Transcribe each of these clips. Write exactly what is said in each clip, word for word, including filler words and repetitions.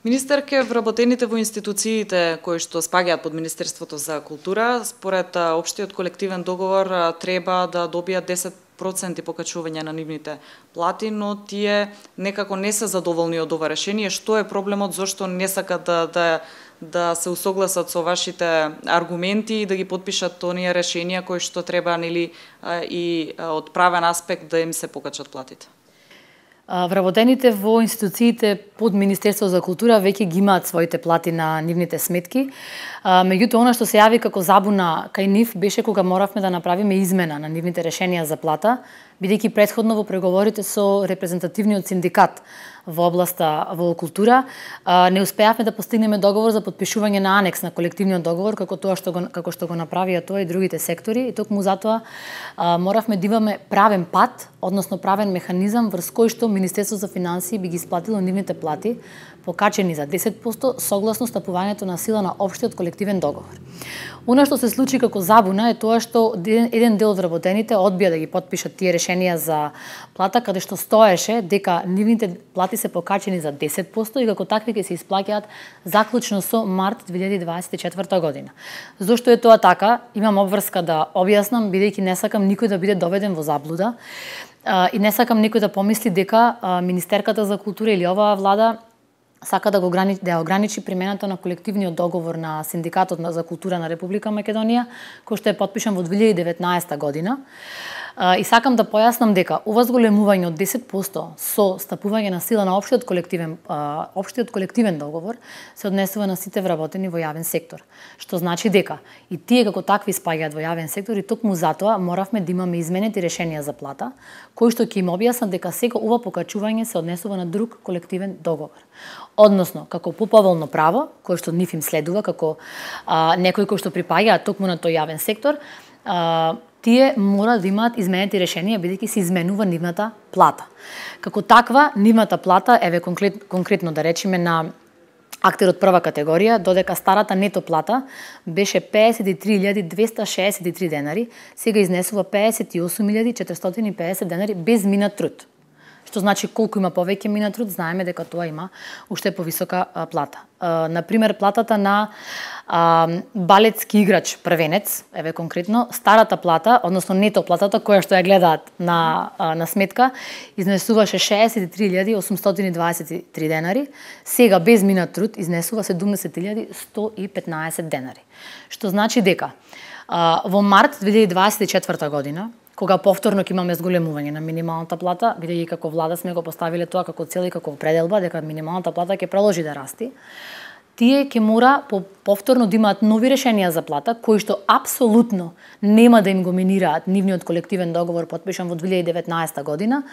Министерке, вработените во институциите кои што спаѓаат под Министерството за култура, според општиот колективен договор треба да добијат десет проценти покачување на нивните плати, но тие некако не се задоволни од ова решение. Што е проблемот, зошто не сакат да, да, да се усогласат со вашите аргументи и да ги подпишат оние решенија кои што треба, нели, и од правен аспект да им се покачат платите? Вработените во институциите под Министерство за култура веќе ги имаат своите плати на нивните сметки. Меѓутоа, она што се јави како забуна кај нив беше кога моравме да направиме измена на нивните решенија за плата, бидејќи претходно во преговорите со репрезентативниот синдикат во областа во култура не успеавме да постигнеме договор за подпишување на анекс на колективниот договор како тоа што го како што го направија тоа и другите сектори, и токму затоа моравме да имаме правен пат, односно правен механизам врз кој што Министерството за финансии би ги исплатило нивните плати покачени за десет проценти согласно стапувањето на сила на општиот колективен договор. Она што се случи како забуна е тоа што еден дел од вработените одбија да ги потпишат тие решенија за плата, каде што стоеше дека нивните плати се покачени за десет проценти и како такви ќе се исплаќаат заклучно со март две илјади дваесет и четврта година. Зошто е тоа така? Имам обврска да објаснам, бидејќи не сакам никој да биде доведен во заблуда и не сакам никој да помисли дека Министерката за култура или оваа влада сака да го ограничи, да ограничи примената на колективниот договор на Синдикатот за култура на Република Македонија, кој што е потпишан во две илјади и деветнаесета година. И сакам да појаснам дека ова зголемување од десет проценти со стапување на сила на општиот колективен општиот колективен договор се однесува на сите вработени во јавен сектор, што значи дека и тие како такви спаѓаат во јавен сектор и токму затоа моравме да имаме изменети решенија за плата, кои што ќе им објаснат дека сега ова покачување се однесува на друг колективен договор. Односно, како поповолно право, кој што нив им следува, како а, некои кои што припаѓаат токму на тој јавен сектор, а, тие мора да имаат изменети решенија, бидејќи се изменува нивната плата. Како таква, нивната плата, еве конкрет, конкретно да речеме на актерот прва категорија, додека старата нето плата беше пеесет и три илјади двеста шеесет и три денари, сега изнесува пеесет и осум илјади четиристотини и пеесет денари без минат труд. Што значи колку има повеќе минат труд, знаеме дека тоа има уште повисока а, плата. А, например, платата на а, балетски играч првенец, еве конкретно, старата плата, односно нето платата која што ја гледаат на, а, на сметка, изнесуваше шеесет и три илјади осумстотини дваесет и три денари, сега без минат труд изнесува седумдесет илјади сто и петнаесет денари. Што значи дека а, во март две илјади дваесет и четврта година, кога повторно ќе имаме зголемување на минималната плата, бидејќи како влада сме го поставиле тоа како цел и како пределба дека минималната плата ќе продолжи да расти, тие ќе мора по повторно да имаат нови решенија за плата, кои што апсолутно нема да им го минираат нивниот колективен договор потпишан во две илјади и деветнаесета година,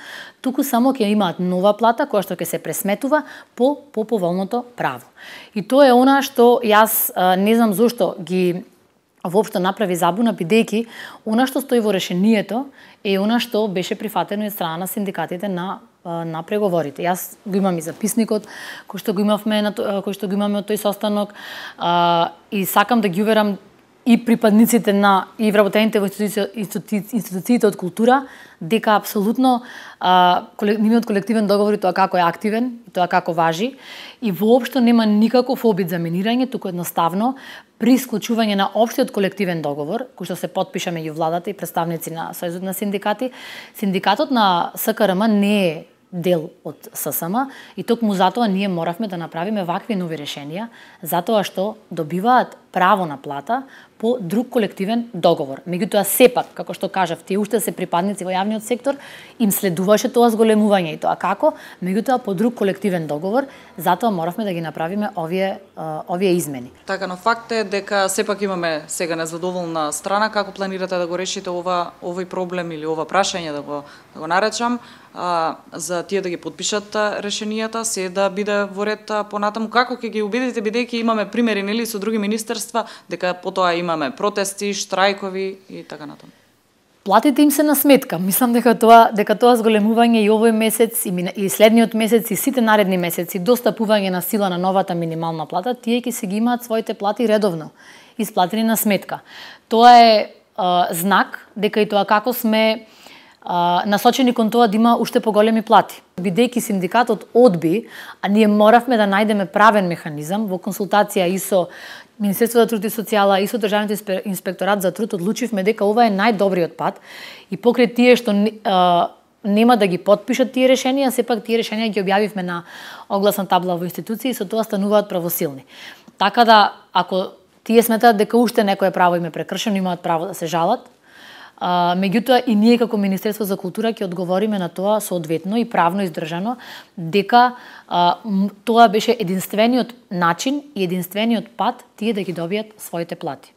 туку само ќе имаат нова плата која што ќе се пресметува по поповолното право. И тоа е она што јас не знам зошто ги воопшто направи забуна, бидејќи она што стои во решението е она што беше прифатено од страна на синдикатите на на преговорите. Јас го имам и записникот кој што го имавме на кој што го имаме од тој состанок а, и сакам да ги уверам и припадниците на и вработените во институциите, институциите од култура дека апсолутно а, нивниот колективен договор и тоа како е активен, и тоа како важи и воопшто нема никаков обид за минирање, туку едноставно при исклучување на општиот колективен договор, кој што се потпиша меѓу владата и представници на Сојузот на синдикати, синдикатот на СКРМ не е дел од ССМ и токму затоа ние моравме да направиме вакви нови решенија, затоа што добиваат право на плата по друг колективен договор. Меѓутоа сепак, како што кажав, тие уште се припадници во јавниот сектор, им следуваше тоа зголемување и тоа како, меѓутоа по друг колективен договор, затоа моравме да ги направиме овие овие измени. Така, но факт е дека сепак имаме сега незадоволна страна. Како планирате да го решите ова овој проблем или ова прашање да го да го наречам, а, за тие да ги подпишат решенијата, се да биде во ред понатаму? Како ќе ги убедите, бидејќи имаме примери нели со други министерства дека потоа имаме протести, штрајкови и така натаму? Платите им се на сметка. Мислам дека тоа дека тоа зголемување и овој месец и, и следниот месец и сите наредни месеци до стапување на сила на новата минимална плата, тие ќе се ги имаат своите плати редовно исплатени на сметка. Тоа е а, знак дека и тоа како сме насочени кон тоа да има уште поголеми плати. Бидејќи синдикатот одби, а ние моравме да најдеме правен механизам во консултација и со Министерството за труд и социјала и со Државниот инспекторат за труд, одлучивме дека ова е најдобриот пат и покрај тие што а, нема да ги потпишат тие решенија, сепак тие решенија ги објавивме на огласна табла во институции и со тоа стануваат правосилни. Така да, ако тие сметаат дека уште некое право им е прекршено, имаат право да се жалат. А, меѓутоа и ние како Министерство за култура ќе одговориме на тоа соодветно и правно издржано дека а, тоа беше единствениот начин и единствениот пат тие да ги добијат своите плати.